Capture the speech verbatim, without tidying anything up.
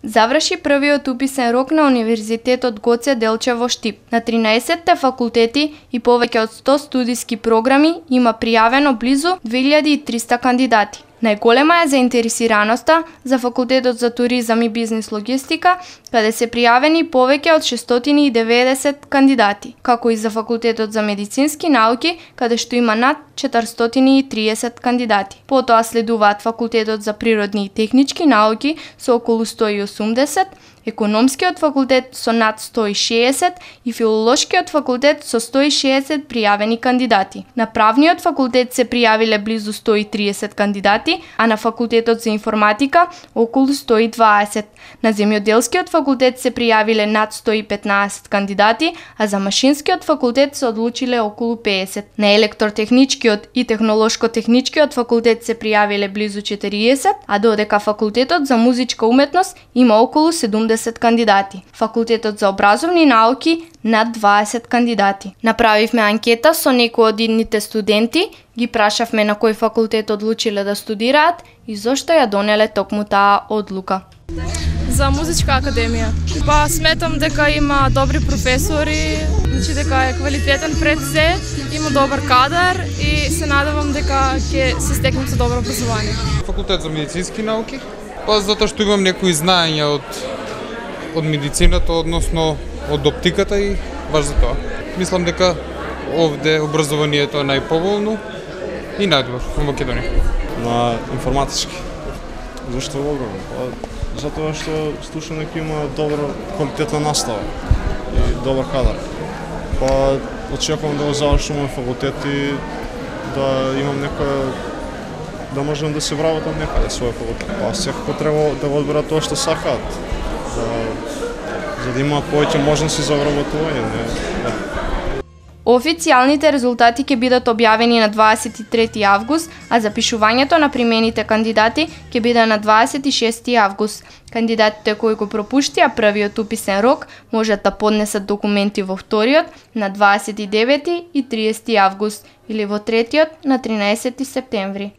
Заврши првиот уписен рок на Универзитетот Гоце Делчев во Штип. На тринаесетте факултети и повеќе од сто студиски програми има пријавено близу две илјади и триста кандидати. Најголема е заинтересираноста за Факултетот за туризам и бизнис логистика, каде се пријавени повеќе од шестстотини и деветдесет кандидати, како и за Факултетот за медицински науки, каде што има над четиристотини и триесет кандидати. Потоа следуваат Факултетот за природни и технички науки со околу сто и осумдесет, Економскиот факултет со над сто и шеесет и Филолошкиот факултет со сто и шеесет пријавени кандидати. На Правниот факултет се пријавиле близу сто и триесет кандидати, а на Факултетот за информатика околу сто и дваесет. На Земјоделскиот факултет се пријавиле над сто и петнаесет кандидати, а за Машинскиот факултет се одлучиле околу пеесет. На Електротехничкиот и Технолошко-техничкиот факултет се пријавиле близу четириесет, а додека Факултетот за музичка уметност има околу седумдесет кандидати. Факултетот за образовни науки над дваесет кандидати. Направивме анкета со некои од идните студенти, ги прашавме на кој факултет одлучиле да студираат и зошто ја донеле токму таа одлука. За музичка академија. Па сметам дека има добри професори, значи дека е квалитетен пред се, има добар кадар и се надевам дека ќе се стекнем со добро образование. Факултет за медицински науки, па затоа што имам некои знаења од од медицината, односно од оптиката и баш за тоа. Мислам дека овде образованието е најповолно и најдобро во Македонија. На информатички. Зашто вогам? Па, затоа што слушам дека има добра квалитетна настава и добар кадар. Па очекувам да го завршам факултет и да имам некоја да можам да се вработам некаде свој факултет. Па секако треба да го одберат тоа што сакаат. За, за да имаат повеќе можности за вработување. Да. Официјалните резултати ќе бидат објавени на дваесет и трети август, а запишувањето на примените кандидати ќе биде на дваесет и шести август. Кандидатите кои го пропуштија првиот уписен рок можат да поднесат документи во вториот на дваесет и девети и триесети август или во третиот на тринаесети септември.